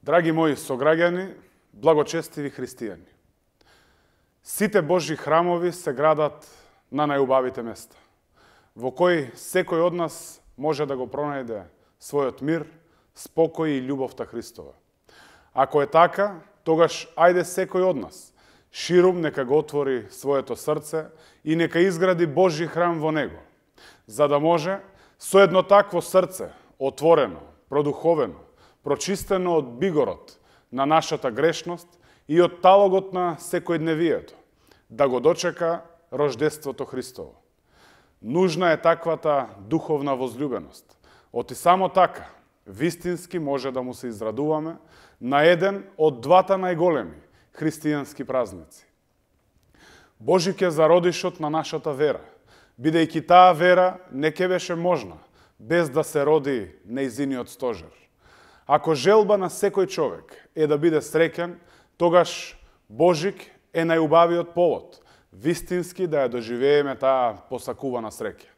Драги мои сограѓани, благочестиви христијани, сите Божји храмови се градат на најубавите места, во кои секој од нас може да го пронајде својот мир, спокој и љубовта Христова. Ако е така, тогаш ајде секој од нас ширум нека го отвори своето срце и нека изгради Божји храм во него, за да може со едно такво срце, отворено, продуховено, прочистено од бигорот на нашата грешност и од талогот на секојдневието, да го дочека рождеството Христово. Нужна е таквата духовна возлюбеност. Оти само така, вистински може да му се израдуваме на еден од двата најголеми христијански празници. Божик е зародишот на нашата вера, бидејќи таа вера не ке беше можна без да се роди нејзиниот стожер. Ако желба на секој човек е да биде среќен, тогаш Божик е најубавиот повод, вистински да ја доживееме таа посакувана среќа.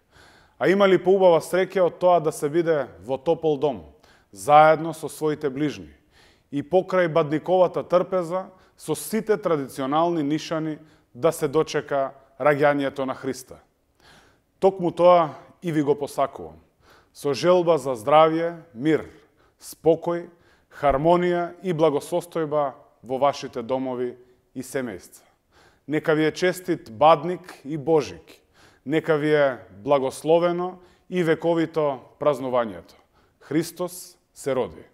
А има ли поубава среќа од тоа да се биде во топол дом, заедно со своите ближни и покрај бадниковата трпеза со сите традиционални нишани да се дочека раѓањето на Христа. Токму тоа и ви го посакувам, со желба за здравје, мир, спокој, хармонија и благосостојба во вашите домови и семејства. Нека ви е честит Бадник и Божик, нека ви е благословено и вековито празнувањето. Христос се роди.